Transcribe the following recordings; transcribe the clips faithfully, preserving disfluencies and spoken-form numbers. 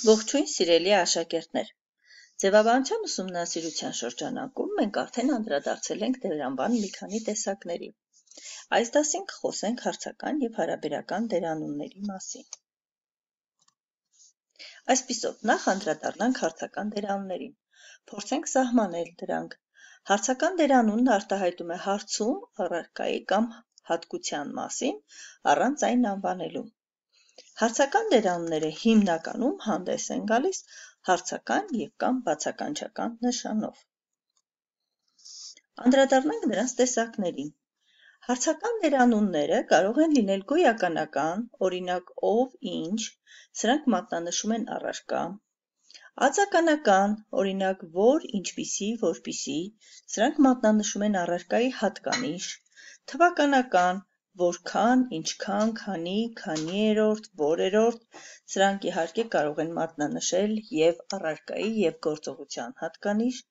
Ողջույն սիրելի աշակերտներ, ձևաբանության ուսումնասիրության շրջանակում մենք արդեն անդրադարձել ենք դերանվան մի քանի տեսակների։ Այս դասին կխոսենք հարցական և հարաբերական դերանունների մասին։ Այսպիսով, նախ անդրադառնանք հարցական դերանուններին, փորձենք սահմանել դրանք։ Հարցական դերանունն արտահայտում է հարցում առարկայի կամ հատկության մասին, առանց այն անվանելու։ Հարցական դերանունները հիմնականում հանդես են գալիս հարցական և կամ բացականչական նշանով։ Անդրադառնանք նրանց տեսակներին։ Հարցական դերանունները կարող են լինել գոյականական, օրինակ ով, ինչ, սրանք մատնանշում են առարկա, ածականական, օրինակ որ, ինչպիսի, որպիսի, սրանք մատնանշում են առարկայի հատկանիշ, թվականական, որքան, ինչքան, քանի, քանիերորդ, որերորդ, սրանք իհարկե կարող են մատնանշել և առարկայի և գործողության հատկանիշ,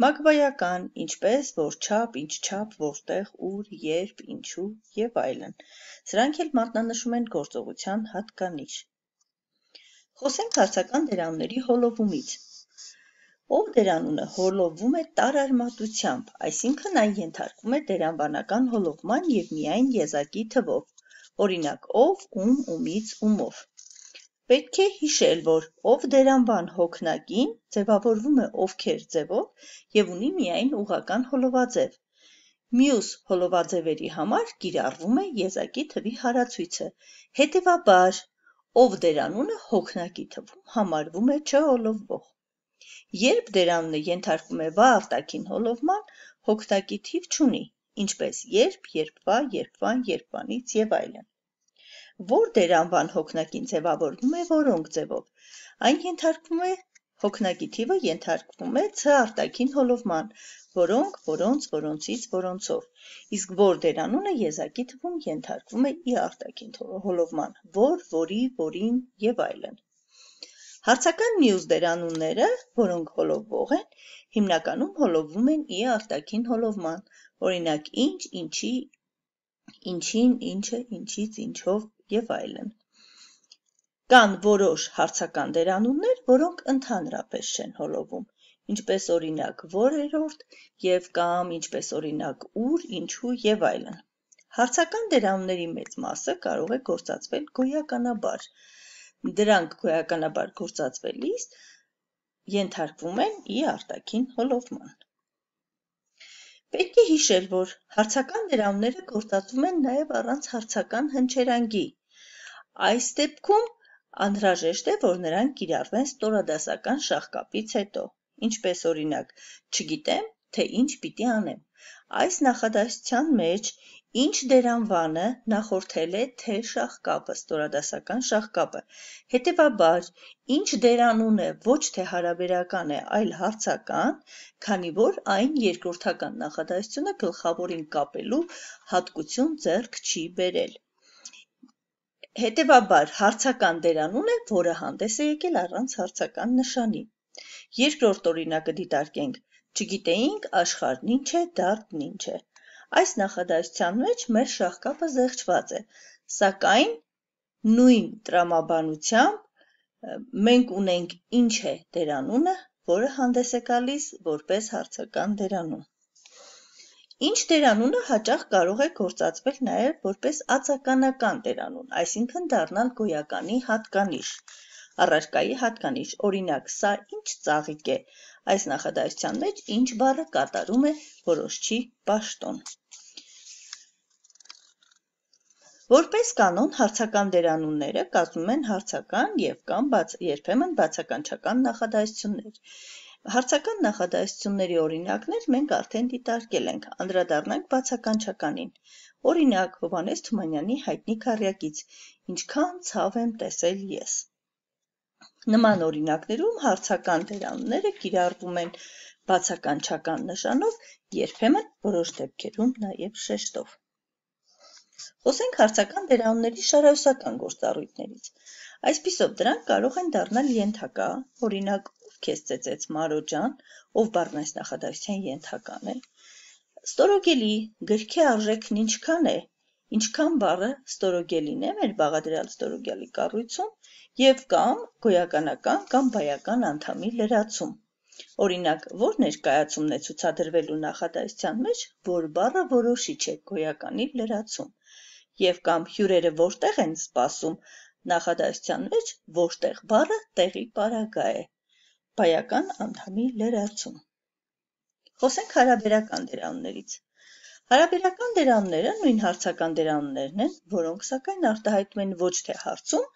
մակբայական, ինչպես, որչափ, ինչչափ, որտեղ, ուր, երբ, ինչու և այլն, սրանք էլ մատնանշում են գործողության հատկանիշ։ Խոսենք հարցական դերանունների հոլովումից։ Ով դերանունը հոլովվում է տարարմատությամբ, այսինքն այն ենթարկվում է դերանվանական հոլովման և միայն եզակի թվով, օրինակ ով, ում, ումից, ումով։ Պետք է հիշել, որ ով դերանվան հոգնակին ձևավորվում է ովքեր ձևով և ունի միայն ուղղական հոլովաձև։ Մյուս հոլովաձևերի համար կիրառվում է եզակի թվի հարացույցը, հետևաբար, ով դերանունը հոգնակի թվում համարվում է չհոլովվող։ Երբ դերանունը ենթարկվում է վա արտաքին հոլովման, հոգնակի թիվ չունի, ինչպես երբ, երբվա, երբվան, երբվանից և այլն։ Որ դերանվան հոգնակին ձևավորվում է որոնք ձևով, այն ենթարկվում է հոգնակի թիվը ենթարկվում է ց արտաքին հոլովման, որոնք, որոնց, որոնցից, որոնցով, իսկ որ դերանունը եզակի թվում ենթարկվում է ի արտաքին հոլովման, որ, որի, որին և այլն։ Հարցական մյուս դերանունները, որոնք հոլովվող են, հիմնականում հոլովվում են ի արտաքին հոլովման, օրինակ ինչ, ինչի, ինչին, ինչը, ինչից, ինչով և այլն։ Կան որոշ հարցական դերանուններ, որոնք ընդհանրապես չեն հոլովում, ինչպես օրինակ որերորդ և կամ ինչպես օրինակ ուր, ինչու և այլն։ Հարցական դերանունների մեծ մասը կարող է գործածվել գոյականաբար, դրանք գոյականաբար գործածվելիս ենթարկվում են ի արտաքին հոլովման։ Պետք է հիշել, որ հարցական դերանունները գործածվում են նաև առանց հարցական հնչերանգի։ Այս դեպքում անհրաժեշտ է, որ նրանք կիրառվեն ստորադասական շաղկապից հետո, ինչպես օրինակ չգիտեմ, թե ինչ պիտի անեմ։ Այս նախադասության մեջ ինչ դերանվանը նախորդել է թե շաղկապը, ստորադասական շաղկապը, հետևաբար ինչ դերանունը ոչ թե հարաբերական է, այլ հարցական, քանի որ այն երկրորդական նախադասությունը գլխավորին կապելու հատկություն ձեռք չի բերել։ Հետևաբար հարցական դերանուն է, որը հանդես է եկել առանց հարցական նշանի։ Երկրորդ օրինակը դիտարկենք. չգիտեինք աշխարհն ինչ է, դարդն ինչ է։ Այս նախադասության մեջ մեր շաղկապը զեղչված է, սակայն նույն տրամաբանությամբ մենք ունենք ինչ է դերանունը, որը հանդես է գալիս որպես հարցական դերանուն։ Ինչ դերանունը հաճախ կարող է գործածվել նաև որպես ածականական դերանուն, այսինքն դառնալ գոյականի հատկանիշ, առարկայի հատկանիշ, օրինակ սա ինչ ծաղիկ է, այս նախադասության մեջ ինչ բառը կատարում է որոշչի պաշտոն։ Որպես կանոն հարցական դերանունները կազմում են հարցական և կամ բաց, երբեմն բացականչական նախադասություններ։ Հարցական նախադասությունների օրինակներ մենք արդեն դիտարկել ենք, անդրադառնանք բացականչականին։ Օրինակ Հովհաննես Թումանյանի հայտնի քառյակից «Ինչքան ցավ եմ տեսել ես»։ Նման օրինակներում հարցական դերանունները կիրառվում են բացականչական նշանով, երբեմն որոշ դեպքերում նաև շեշտով։ Խոսենք հարցական դերանունների շարահյուսական գործառույթներից։ Այսպիսով դրանք կարող են դառնալ ենթակա, օրինակ ով քեզ ծեծեց Մարո ջան, ով բառն այս նախադասության ենթական է, ստորոգելի, գրքի արժեքն ինչքան է, ինչքան բառը ստորոգելին է մեր բաղադրյալ ստորոգյալի կառույցում, և կամ գոյականական կամ բայական անդամի լրացում։ Օրինակ, որ ներկայացումն է ցուցադրվելու նախադասության մեջ, որ բառը որոշիչ է գոյականի լրացում, և կամ հյուրերը որտեղ են սպասում նախադասության մեջ, որտեղ բառը տեղի պարագա է, բայական անդամի լրացում։ Խոսենք հարաբերական դերանուններից։ Հարաբերական դերանունները նույն հարցական դերանուններն են, որոնք սակայն արտահայտում են ոչ թե հարցում,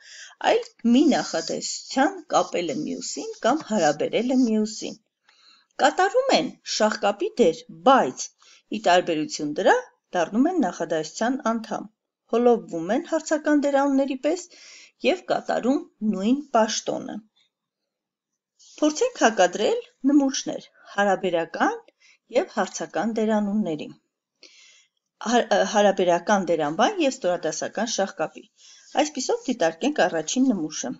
այլ մի նախադասության կապելը մյուսին կամ հարաբերելը մյուսին։ Կատարում են շաղկապի դեր, բայց ի տարբերություն դրա դառնում են նախադասության անդամ, հոլովվում են հարցական դերանունների պես և կատարում նույն պաշտոնը։ Փորձենք հակադրել նմուշներ հարաբերական և հարցական դերանունների։ Հարաբերական դերանբան և ստորադասական շաղկապի։ Այսպիսով դիտարկենք առաջին նմուշը։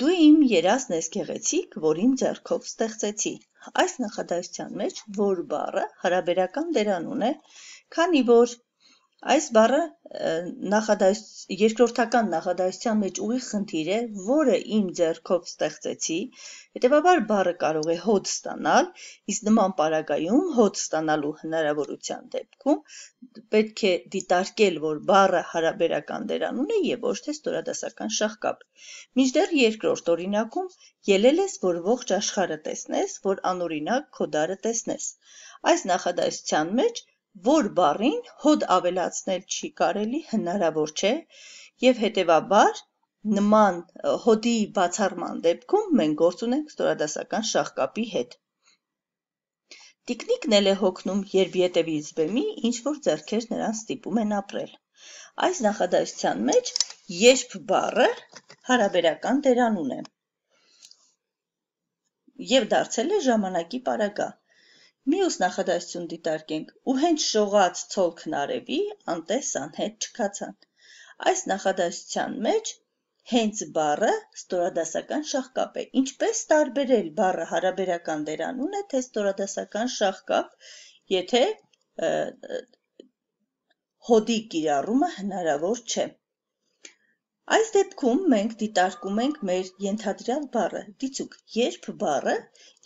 Դու իմ երազն ես գեղեցիկ, որ իմ ձեռքով ստեղծեցի։ Այս նախադասության մեջ որ բառը հարաբերական դերանուն է, քանի որ այս բառը նախադաս... երկրորդական նախադասության մեջ ուղիղ խնդիր է, որը իմ ձեռքով ստեղծեցի, հետևաբար բառը կարող է հոդ ստանալ, իսկ նման պարագայում հոդ ստանալու հնարավորության դեպքում պետք է դիտարկել, որ բառը հարաբերական դերանուն է և ոչ թե ստորադասական շաղկապ։ Մինչդեռ երկրորդ օրինակում ելել ես, որ ողջ աշխարհը տեսնես, որ անօրինակ քո դարը տեսնես։ Այս նախադասության մեջ որ բառին հոդ ավելացնել չի կարելի, հնարավոր չէ, և հետևաբար նման հոդի բացառման դեպքում մենք գործ ունենք ստորադասական շաղկապի հետ։ Տիկնիկն էլ է հոգնում, երբ ետևից բեմի ինչ-որ ձեռքեր նրան ստիպում են ապրել։ Այս նախադասության մեջ երբ բառը հարաբերական դերանուն է և դարձել է ժամանակի պարագա։ Մյուս նախադասություն դիտարկենք. ու հենց շողաց ցոլքն արևի, անտես անհետ չքացան։ Այս նախադասության մեջ հենց բառը ստորադասական շաղկապ է։ Ինչպես տարբերել բառը հարաբերական դերանուն է, թե ստորադասական շաղկապ, եթե հոդի կիրառումը հնարավոր չէ։ Այս դեպքում մենք դիտարկում ենք մեր ենթադրյալ բառը, դիցուք երբ բառը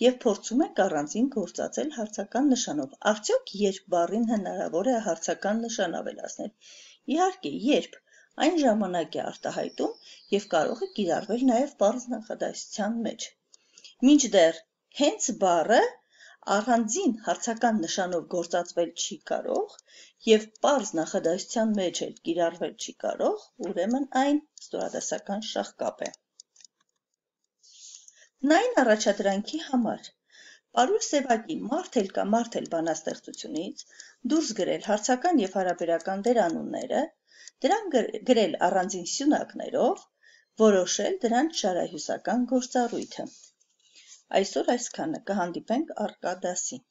և փորձում ենք առանձին գործածել հարցական նշանով։ Արդյոք երբ բառին հնարավոր է հարցական նշան ավելացնել։ Իհարկե, երբ այն ժամանակ է արտահայտում և կարող է կիրառվել նաև պարզ նախադասության մեջ։ Մինչդեռ հենց բառը առանձին հարցական նշանով գործածվել չի կարող և պարզ նախադասության մեջ էլ կիրառվել չի կարող, ուրեմն այն ստորադասական շաղկապ է։ Հնային առաջադրանքի համար Պարուլ Սևակի «Մարդ էլ կա, մարդ էլ» բանաստեղծությունից դուրս գրել հարցական և հարաբերական դերանունները, դրանք գրել առանձին սյունակներով, որոշել դրանց շարահյուսական գործառույթը։ Այսօր այսքանը, կհանդիպենք առկա դասին։